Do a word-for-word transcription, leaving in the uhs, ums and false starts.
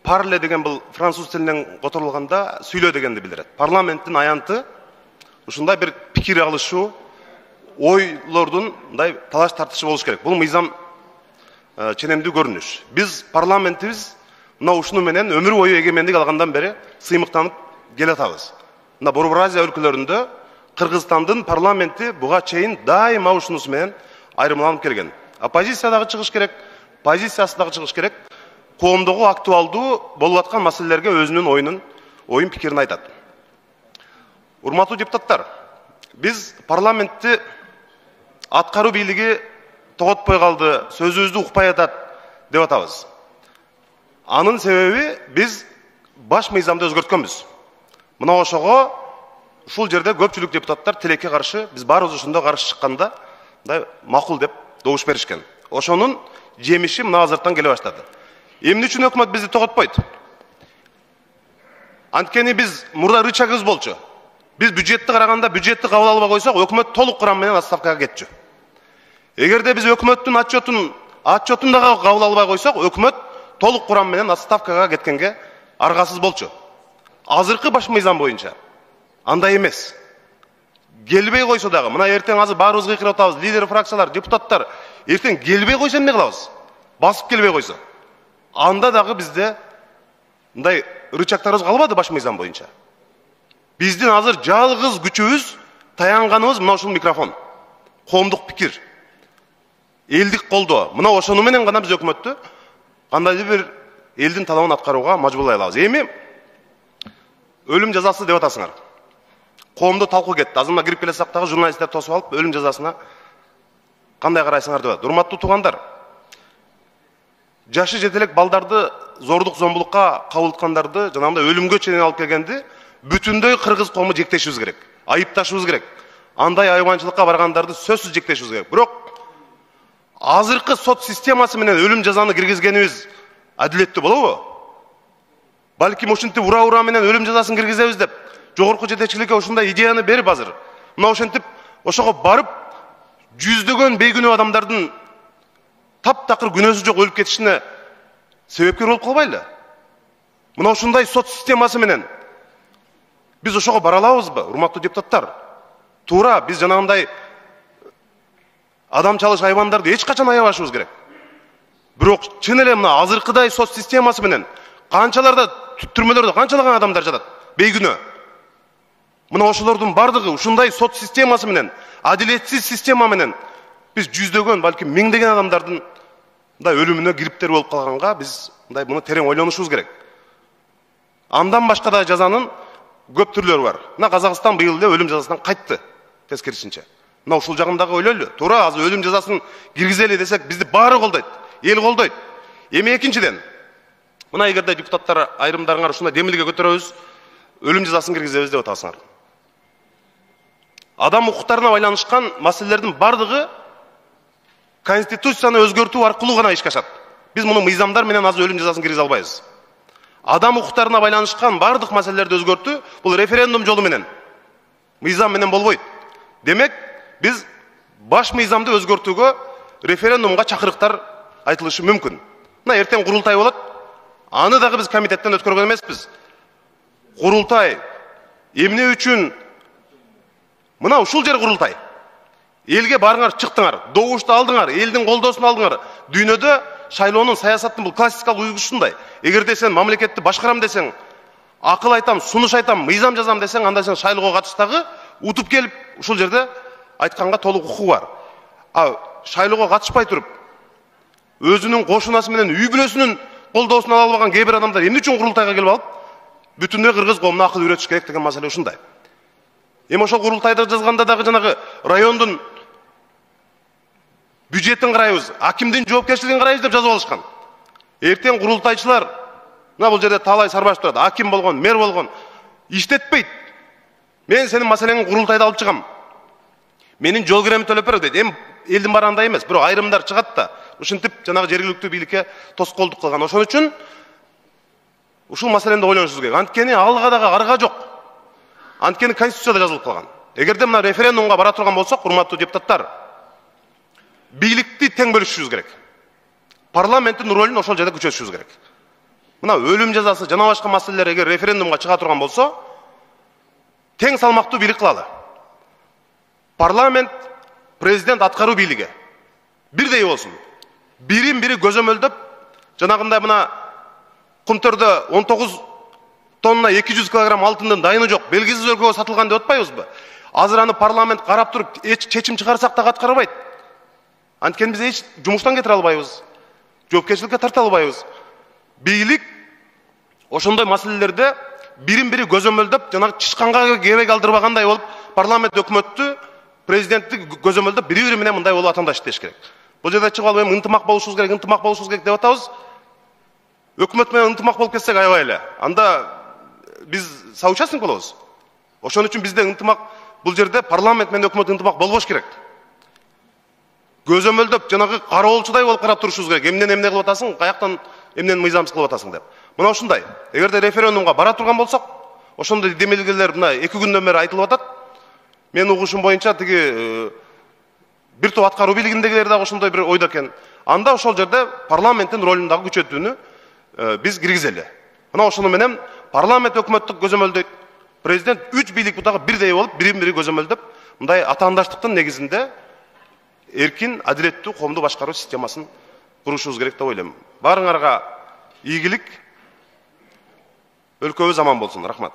Parle деген бұл француз тілінен которулганда сүйлө дегенди билдирет. Парламенттин аянты ушундай бир пикир алышуу, ойлордун мындай талаш тартышы болуш керек. Бул мыйзам ченемдүү көрүнүш. Биз парламентибиз мына ушуну менен өмүр бою эгемендик алгандан бери сыймыктанып келатабыз. Мына Борбор Азия өлкөлөрүндө Кыргызстандын парламенти буга чейин дайыма ушунусу менен айырмаланып келген. Оппозиция дагы чыгыш керек, позициясы дагы чыгыш керек. Коомдогу актуалдуу болуп аткан маселелерге өзүнүн оюнун, оюн пикирин айтат. Урматтуу депутаттар, биз парламентти аткаруу бийлиги тоготпой калды, сөзүбүздү укпай атат деп атабыз. Анын себеби биз баш мыйзамды өзгөрткөнбүз. Мына ошого ушул жерде көпчүлүк депутаттар тилекке каршы, биз баарыбыз ошондо каршы чыкканда, мындай макул деп добуш беришкен. Ошонун жемиши мына азырттан келе баштады. Эмне үчүн өкмөт бизди тоготпойт? Анткени биз мурда рычагыбыз болчу. Биз бюджетти караганда бюджетти кабыл албай койсок, өкмөт толук курам менен отставкага кетчү. Эгерде биз өкмөттүн отчетун, отчетун дагы кабыл албай койсок, өкмөт толук курам менен отставкага кеткенге аргасыз болчу. Азыркы баш мыйзам боюнча андай эмес. Келбей койсо дагы, мына эртең азыр баарыбыз кыйкырып атабыз, лидер фракциялар, депутаттар, эртең келбей койсо эмне кылабыз? Басып келбей койсо. Анда дагы бизде мындай рычагдарыбыз калбады баш мыйзам боюнча. Биздин азыр жалгыз күчүбүз, таянганыбыз мына ушул микрофон. Коомдук пикир. Элдик колдоо. Мына ошону менен гана биз өкмөттү кандайдыр бир элдин талабын аткарууга мажбурлай алабыз. Эми өлүм жазасы деп атасыңар. Коомдо талкуу кетти. Азыр мына кирип келе сактагы журналисттер тосуп алып, өлүм жазасына кандай карайсыңар деп атат. Урматтуу туугандар, жашы жетелек балдарды зордук зомбулукка кабылткандарды, жанагындай өлүмгө чейин алып келгенди бүтүндөй кыргыз коому жектешибиз керек. Айыпташыбыз керек. Андай айванчылыкка баргандарды сөзсүз жектешибиз керек. Бирок азыркы сот системасы менен өлүм жазаны киргизгенибиз адилеттүү болобу? Балким ушинтип ура-ура менен өлүм жазасын киргизебиз деп жогорку жетекчиликке ушундай идеяны берип азыр. Мына ошентип ошого барып жүздөгөн бейгүнөө адамдардын таптакыр күнөөсү жок өлүп кетишине себепкер болуп калбайлы? Мына ушундай сот системасы менен биз ошого бара алабызбы, урматтуу депутаттар? Туура, биз жанагындай адам чалыш айвандарды эч качан аябашыбыз керек. Бирок чын эле мына азыркыдай сот системасы менен канчаларда түрмөлөрдө канчалаган адамдар жатат, бейгүнөө. Мына ошолордун бардыгы ушундай сот системасы менен, адилетсиз система менен биз жүздөгөн, балким миңдеген адамдардын мындай өлүмүнө кириптер болуп калганга биз мындай муну терең ойлонушубуз керек. Андан башка да жазанын көп түрлөрү бар. Мына Казакстан быйыл эле өлүм жазасынан кайтты, тескерисинче. Мына ушул жагындагы ойлойлу. Туура, азыр өлүм жазасын киргизели десек, бизди баары колдойт, эл колдойт. Эми экинчиден, мына эгерде депутаттар айрымдарыңар ушундай демилге көтөрөбүз, өлүм жазасын киргизебиз деп атасыңар. Адам укуктарына байланышкан маселелердин бардыгы конституцияны өзгөртүү аркылуу гана ишке ашат. Биз муну мыйзамдар менен азыр өлүм жазасын киргизе албайбыз. Адам укуктарына байланышкан бардык маселелерди өзгөртүү бул референдум жолу менен, мыйзам менен болбойт. Демек, биз баш мыйзамды өзгөртүүгө референдумга чакырыктар айтылышы мүмкүн. Мына эртең курултай болот. Аны дагы биз комитеттен өткөргөн эмеспиз. Курултай эмне үчүн? Мына ушул жер курултай. Элге барыңар, чыктыңар, добушту алдыңар, элдин колдоосун алдыңар. Дүйнөдө шайлоонун, саясаттын бул классикалык үлгүсү ушундай. Эгерде сен мамлекетти башкарам десең, акыл айтам, сунуш айтам, мыйзам жазам десең, анда сен шайлоого катыштагы утуп келип ушул жерде айтканга толук укугу бар. А шайлоого катышпай туруп, өзүнүн кошунасы менен үй бүлөсүнүн колдоосун ала албаган кээ бир адамдар эмне үчүн курултайга келип алып, бүтүндөй кыргыз коомуна акыл үйрөтүш керек деген маселе ушундай. Эми ошол курултайда жазганда дагы жанагы райондун бюджетин карайбыз, акимдин жоопкерчилигин карайбыз деп жазып алышкан. Эртең курултайчылар, мына бул жерде талай сарбаш турат, аким болгон, мэр болгон, иштетпейт. Мен сенин маселеңди курултайда алып чыгам. Менин жол киремди төлөп бер дейт. Эми элдин баары андай эмес, бирок айрымдар чыгат да, ушинтип жанагы жергиликтүү бийликке тоскоолдук кылган. Ошон үчүн ушул маселени ойлонушубуз керек. Анткени алга дагы арга жок. Анткени конституцияда жазылып калган. Эгерде мына референдумга бара турган болсок, урматтуу депутаттар, бийликти тең бөлүшүшүбүз керек. Парламенттин ролун ошол жерде күчөтүшүбүз керек. мына өлүм жазасы жана башка маселелер эгер референдумга чыга турган болсо, тең салмактуу бийлик кылалы. Парламент, президент, аткаруу бийлиги бирдей болсун. Бирин бири көзөмөлдөп, жанагындай мына Кумтөрдө он тогуз тонна эки жүз килограмм алтындын дайыны жок, белгисиз өлкөгө сатылган деп атпайбызбы? Азыр аны парламент карап туруп, эч чечим чыгарсак да аткарбайт. Анткени биз эч жумуштан кетире албайбыз. Жоопкерчиликке тарта албайбыз. Бийлик ошондой маселелерде бирин бири көзөмөлдөп, жанагы чычканга кебек алдырбагандай болуп, парламент өкмөттү, президентти көзөмөлдөп бири-бири менен мындай болуп атандаш иштеш керек. Бул жерде чыгып алып, ынтымак болушубуз керек, ынтымак болушубуз керек деп атабыз. Өкмөт менен ынтымак болуп кетсек аябай эле. Анда биз соучастник болобуз. Ошон үчүн бизде ынтымак, бул жерде парламент менен өкмөт ынтымак болбош керек. Көзөмөлдөп, жанагы кароолчудай болуп карап турушубуз керек. Эмнен эмне кылып атасың, каяктан эмнен мыйзамсыз кылып атасың деп. Мына ушундай. Эгерде референдумга бара турган болсок, ошондой демелгелер мына эки күндөн бери айтылып атат. Мен угушум боюнча тиги бир топ аткаруу бийлигиндегилер дагы ошондой бир ойдо экен. Анда ошол жерде парламенттин ролун дагы күчөтүүнү биз киргизели. Мына ошону менен парламент өкмөттү көзөмөлдөйт. Президент үч бийлик бутагы бирдей болуп, бирин-бири көзөмөлдөп, мындай атаандаштыктын негизинде эркин, адилеттүү коомду башкаруу системасын курушубуз керек деп ойлойм. Баарыңарга ийгилик, өлкөбүз аман болсун. Рахмат.